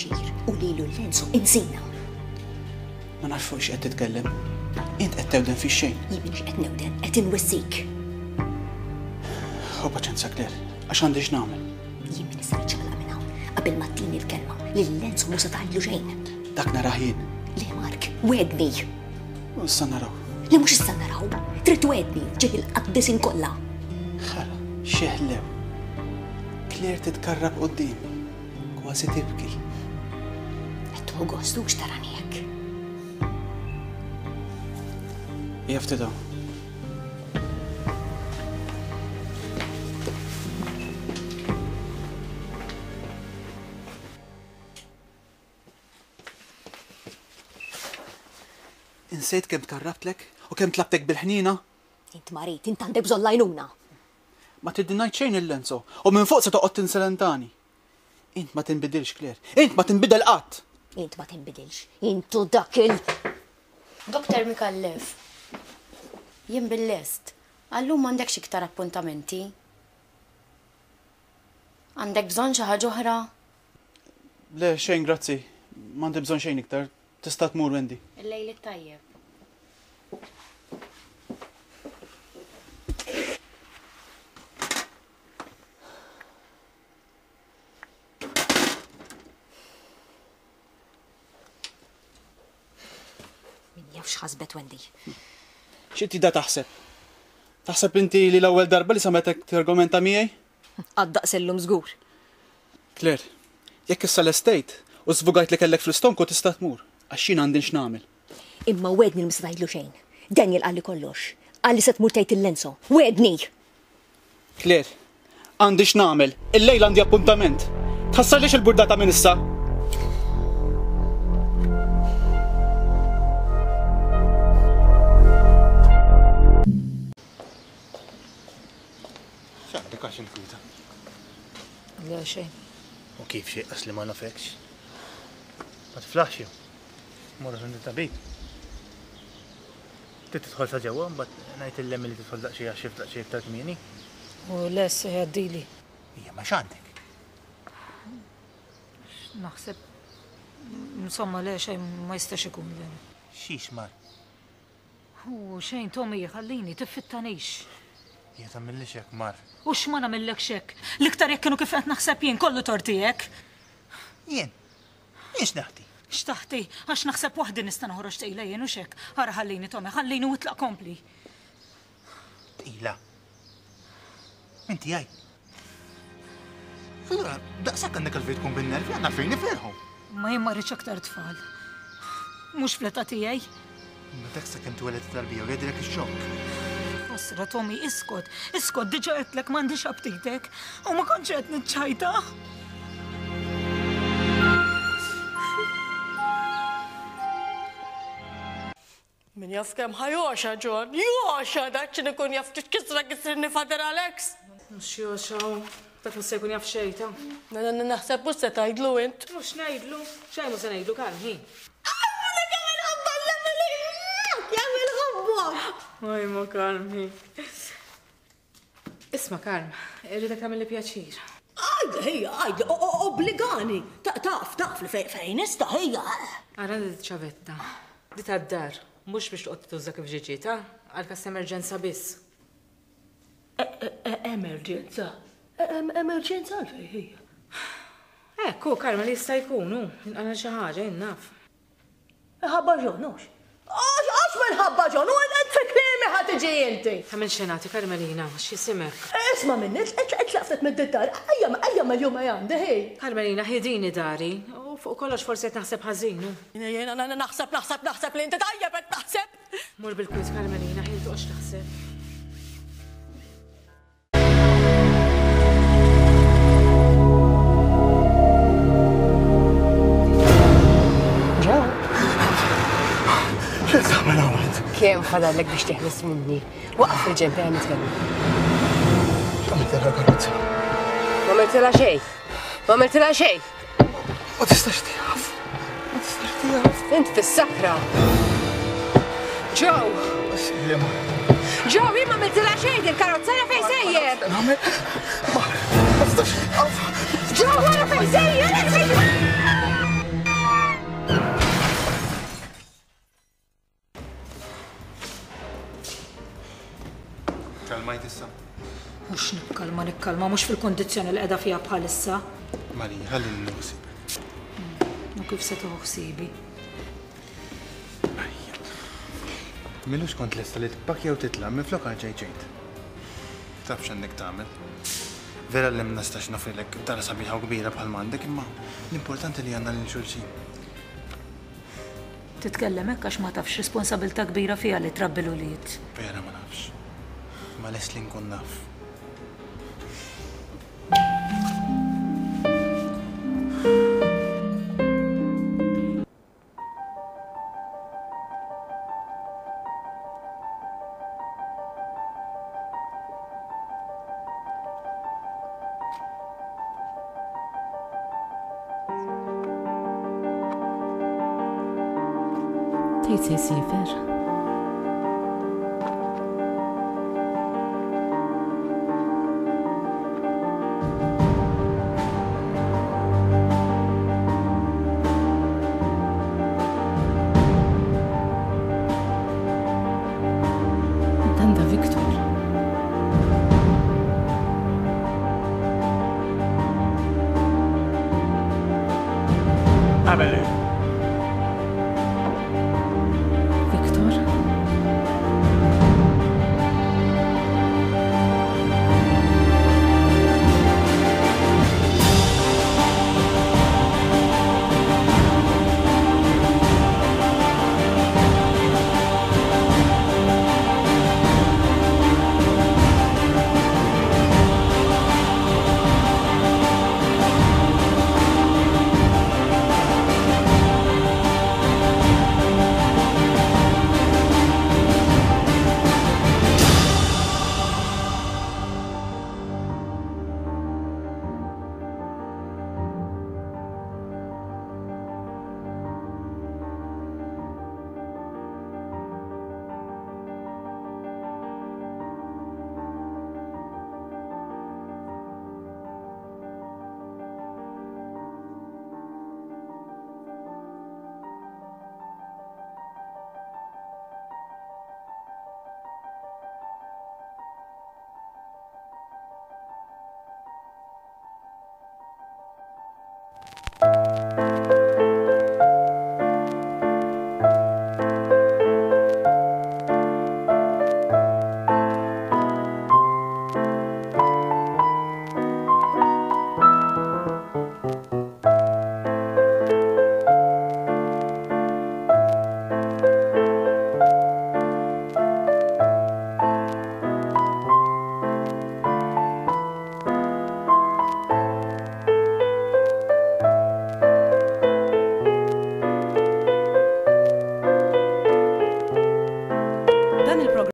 pjaċir u lilu l-Lenzo insina. Ma nafx fuq x'qed titkellem. Int qed tewden fix-xejn. Jien m'iniex qed newden, qed inwissik. Ħu paċenza Claire, għax għandi x'nagħmel. Jien m'iniex se niċċaqlaq minn hawn qabel ma ttini l-kelma li lil Lenzo mhu se tgħidlu xejn. Dak narah jien. Le Mark, wegħdni. U issa naraw. Le mhux issa naraw. Trid twegħdni f'ġieħ il-qaddisin kollha. Ħara, xeħlew. Claire titkarrab quddiemi, kważi tibki. Qed tieħu gost hux tarani hekk. Hija ftit hawn. Insejt kemm tkarrabtlek u kemm tlabtek bil-ħniena? Int marid, int għandek bżonn l-għajnuna. Ma tridni ngħid xejn lil Enzo u minn fuq se toqgħod tinselentani. Int ma tinbidilx, Claire. Int ma tinbidel qatt! Int ma tinbidilx. Int u dak il. Doctor Micallef, Jien bil-lest. Għal-lum m'għandekx iktar appuntamenti? Għandek bżonn xi ħaġa oħra? Le, xejn grazzi. M'għandi bżonn xejn iktar. Tista' tmur Wendy. Il-lejl it-tajjeb. Min jaf x'ħasbet Wendy. Xi tida taħseb? Taħseb inti li l-ewwel darba li sametek targumenta miegħi? Għad daqs illum żgur. Claire, jekk issa lestejt u żvugajt li kellek fl-istonku tista' tmur, għax jien għandi x'nagħmel. Imma wegħdni li ma se tgħidlu xejn. Daniel qalli kollox. Qalli se tmur tgħid lil Enzo. Wegħdni! Claire, għandi x'nagħmel. Illejla għandi appuntament. Tħassarlix il-burdata minn issa. X'għandek għax inkwieta? Le xejn. U kif xejn qas li ma nafekx? Ma tiflaħx jew? Morru għand it-tabib. Trid tidħol sa ġewwa mbagħad ngħid lil Emily tidħol daqsxejn għax-xift daqsxejn iktar kmieni. U le se jgħaddili. Hija ma x'għandek? Naħseb insomma le xejn ma jistax ikun le. Xiex mar? U xejn Tommy, ħallini, tiffittanix. Hija tagħmillix hekk mar. U x'ma nagħmillekx hekk? L-iktar jekk kienu kif qed naħseb jien, kollu tort tiegħek. Jien? Jien x'naħti? X'taħti? Għax naħseb waħdi nista' noħroġ tqila jien hux hekk. Ara ħallini Tommy, ħallini u itlaq kompli. Tqila? Minn tiegħi? Allura, daqshekk għandek għalfejn tkun bin-nervi, għandna għalfejn nifirħu. Ma jien ma rridx aktar tfal. Mhux fl-età tiegħi. Imma dak sakemm tweled it-tarbija u jgħaddilek ix-xokk. Ħasra Tommy, iskot, iskot, diġà għedtlek m'għandix aptitek u ma kontx qed niċċajta. Min jaf kemm ħa jogħxa John, jogħxa dak x'in ikun jaf ftit kisra kisrinni Father Alex. Mhux jogħxa hu, dak mhux se jkun jaf xejn ta. Naħseb mhux se tgħidlu int. Mhux ngħidlu, xejn mhu se ngħidlu kalm hi. Għamilha kemm inħobbha l-Emily! Kemm inħobbha! Ojma kalm hi. Isma' Karm, irridek tagħmilli pjaċir. Għidli ħija, għidli, obbligani. Taf, taf li fejn nista' ħija. Ara di ċavetta. Di tad-dar, mhux biex toqgħod tuża kif ġie ġiet, ha? Għal każ ta' emerġenza biss. Emerġenza? Emerġenza għalfejn ħija? Hekk hu, Karm, li jista' jkun, hu, jinqala' xi ħaġa, jien naf. Minħabba John, hux? Għax, għax minħabba John, u int fi kliemi ħa tiġi inti. Tagħmilx xenati, Carmelina, x'jisimek? Isma' minni, itlaq ftit mid-dar, ejja, ejja mill-jum ejja għandi, ħi. Carmelina, ħi din hi dari, u fuq kollox forsi qed naħseb ħażin, hu. Jiena naħseb, naħseb, naħseb li inti tajjeb qed taħseb. Mur bil-kwiet, Carmelina, ħi toqgħodx taħseb. Kemm fadallek biex teħles minni? Waqaf fil-ġenb ejja nitkellmu. X'għamiltilha l-karozza? Ma għamiltilha xejn. Ma għamiltilha xejn. Ma tistax tieqaf. Ma tistax tieqaf. Int fis-sakra. Joe! Slima. Joe, jien ma għamiltilha xejn din karozza ara fejn sejjer. Nagħmel. Ma tistax tieqaf. Joe, ara fejn sejjer! tikkalma mhux fil-kundizzjoni li qiegħda fiha bħalissa. Marija, ħallini nieħu ħsiebek. U kif se tieħu ħsiebi? Marija. M'ilux kont lesta li tpakkja u titlaq, minflok erġajt ġejt. Taf x'għandek tagħmel. Vera li ma nistax noffrilek dar sabiħa u kbira bħal m'għandek imma l-importanti li għandna lil xulxin. Titkellem hekk għax ma tafx x'responsabilità kbira fiha li trabbi l-ulied. Vera ma nafx. Imma lest li nkun naf. Tgħid se jsiefer? Dan da Victor. Amelie.